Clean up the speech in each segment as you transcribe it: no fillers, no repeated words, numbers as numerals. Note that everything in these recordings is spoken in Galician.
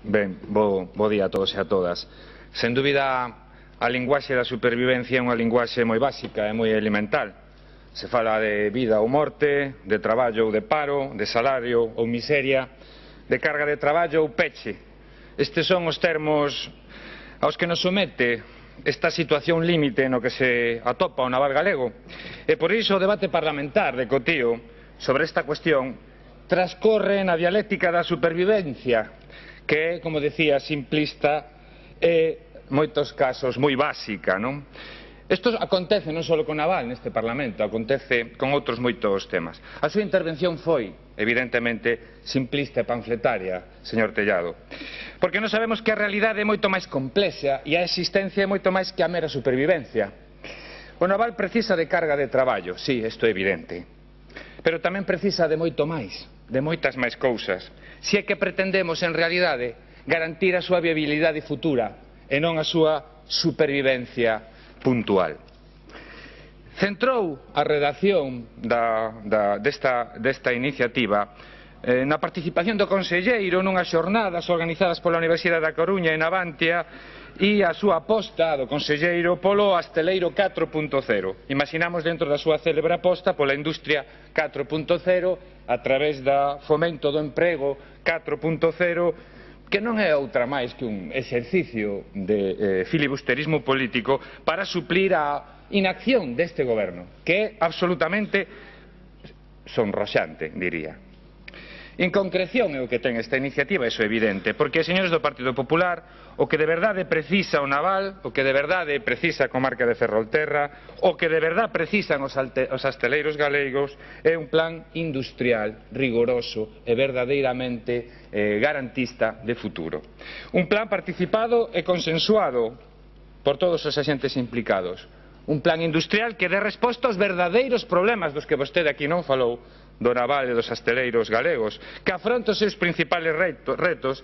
Ben, bo día a todos e a todas. Sen dúbida, a linguaxe da supervivencia é unha linguaxe moi básica e moi elemental. Se fala de vida ou morte, de traballo ou de paro, de salario ou miseria, de carga de traballo ou peche. Estes son os termos aos que nos somete esta situación límite no que se atopa o naval galego. E por iso o debate parlamentar de Cotío sobre esta cuestión transcorre na dialéctica da supervivencia, que é, como decía, simplista e, en moitos casos, moi básica, non? Isto acontece non só con naval neste Parlamento, acontece con outros moitos temas. A súa intervención foi, evidentemente, simplista e panfletaria, señor Tellado, porque non sabemos que a realidade é moito máis complexa e a existencia é moito máis que a mera supervivencia. O naval precisa de carga de traballo, sí, isto é evidente, pero tamén precisa de moito máis, de moitas máis cousas, se é que pretendemos, en realidade, garantir a súa viabilidade futura e non a súa supervivencia puntual. Centrou a redacción desta iniciativa na participación do conselleiro nunhas xornadas organizadas pola Universidade da Coruña e Navantia e a súa aposta do conselleiro polo Asteleiro 4.0. Imaginamos dentro da súa célebre aposta pola industria 4.0 a través da fomento do emprego 4.0, que non é outra máis que un exercicio de filibusterismo político para suplir a inacción deste goberno, que é absolutamente sonroxante, diría. Inconcreción é o que ten esta iniciativa, iso é evidente, porque, señores do Partido Popular, o que de verdade precisa o naval, o que de verdade precisa a comarca de Ferrolterra, o que de verdade precisan os asteleiros galegos é un plan industrial, rigoroso e verdadeiramente garantista de futuro. Un plan participado e consensuado por todos os axentes implicados. Un plan industrial que dé resposta aos verdadeiros problemas dos que vostede aquí non falou, do naval e dos asteleiros galegos, que afronta os seus principales retos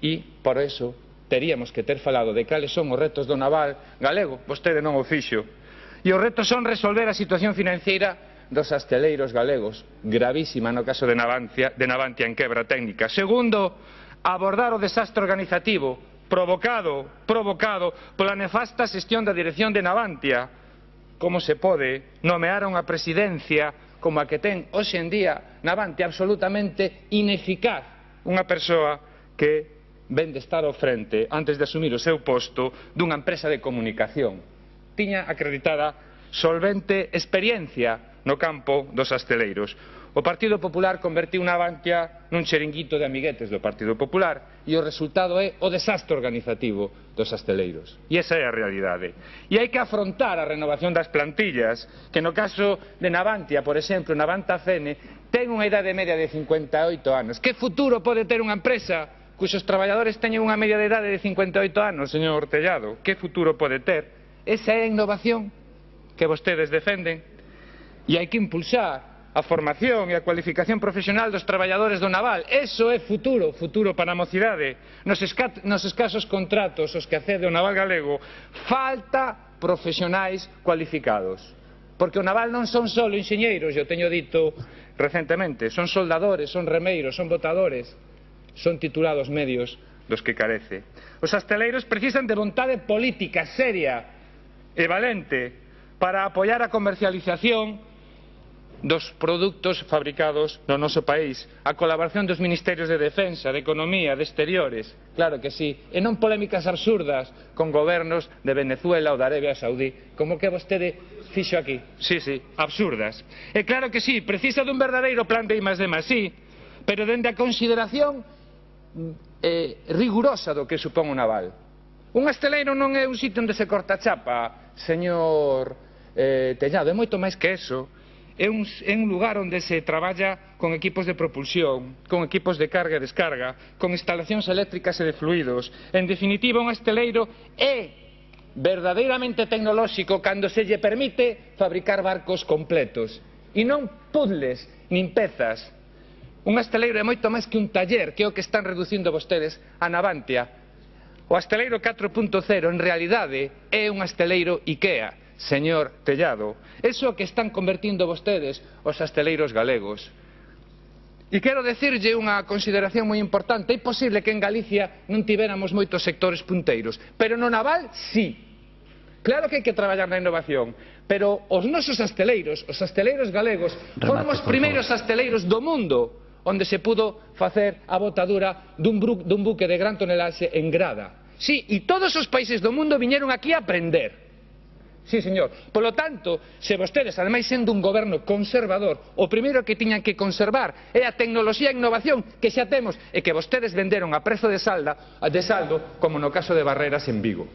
e, por eso, teríamos que ter falado de cales son os retos do naval galego, vostede non o fixo. E os retos son resolver a situación financeira dos asteleiros galegos, gravísima no caso de Navantia en quebra técnica. Segundo, abordar o desastre organizativo provocado pola nefasta xestión da dirección de Navantia. Como se pode nomear unha presidencia como a que ten hoxe en día Navantia absolutamente ineficaz, unha persoa que ven de estar ao frente, antes de asumir o seu posto, dunha empresa de comunicación. Tiña acreditada solvente experiencia no campo dos asteleiros. O Partido Popular convertiu Navantia nun chiringuito de amiguetes do Partido Popular e o resultado é o desastre organizativo dos asteleiros. E esa é a realidade. E hai que afrontar a renovación das plantillas, que no caso de Navantia, por exemplo, Navanta Fene, ten unha idade media de 58 anos. Que futuro pode ter unha empresa cuxos traballadores teñen unha media de idade de 58 anos, señor Tellado? Que futuro pode ter? Esa é a innovación que vostedes defenden. E hai que impulsar a formación e a cualificación profesional dos traballadores do naval. Eso é futuro, futuro para a mocidade. Nos escasos contratos os que accede o naval galego, falta profesionais cualificados. Porque o naval non son só enxeñeiros, eu teño dito recentemente, son soldadores, son remeiros, son botadores, son titulados medios dos que carece. Os asteleiros precisan de vontade política seria e valente para apoiar a comercialización dos produtos fabricados no noso país, a colaboración dos ministerios de Defensa, de Economía, de Exteriores, claro que sí, e non polémicas absurdas con gobernos de Venezuela ou da Arabia Saudí, como que vostede fixo aquí. Sí, absurdas. E claro que sí, precisa dun verdadeiro plan de I+D+, sí, pero dende a consideración rigurosa do que supón o naval. Un asteleiro non é un sitio onde se corta a chapa, señor Tellado, é moito máis que eso. É un lugar onde se traballa con equipos de propulsión, con equipos de carga e descarga, con instalacións eléctricas e de fluidos. En definitiva, un asteleiro é verdadeiramente tecnolóxico cando se lle permite fabricar barcos completos e non puzzles nin pezas. Un asteleiro é moito máis que un taller, que é o que están reducindo vostedes a Navantia. O asteleiro 4.0 en realidade é un asteleiro IKEA, señor Tellado. Eso que están convertindo vostedes os asteleiros galegos. E quero decirlle unha consideración moi importante. É posible que en Galicia non tivéramos moitos sectores punteiros, pero no naval, sí. Claro que hai que traballar na innovación, pero os nosos asteleiros galegos, foron os primeiros asteleiros do mundo onde se pudo facer a botadura dun buque de gran tonelaxe en Grada. Sí, e todos os países do mundo viñeron aquí a aprender. Sí, señor. Polo tanto, se vostedes, ademais sendo un goberno conservador, o primeiro que tiñan que conservar é a tecnoloxía e innovación que xa temos e que vostedes venderon a prezo de saldo, como no caso de Barreras en Vigo.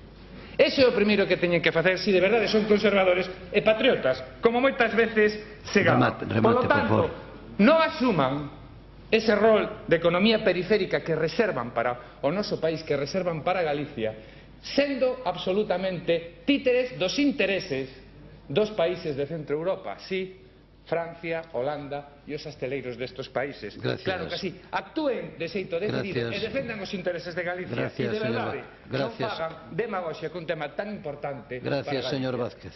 Ese é o primeiro que teñen que facer se de verdade son conservadores e patriotas, como moitas veces se gaban. Polo tanto, non asuman ese rol de economía periférica que reservan para o noso país, que reservan para Galicia, sendo absolutamente títeres dos intereses dos países de Centro Europa, sí, Francia, Holanda e os asteleiros destes países. Claro que sí, actúen de xeito decidido e defendan os intereses de Galicia e de verdade non fagan demagoxia con un tema tan importante para Galicia. Gracias, señor Vázquez.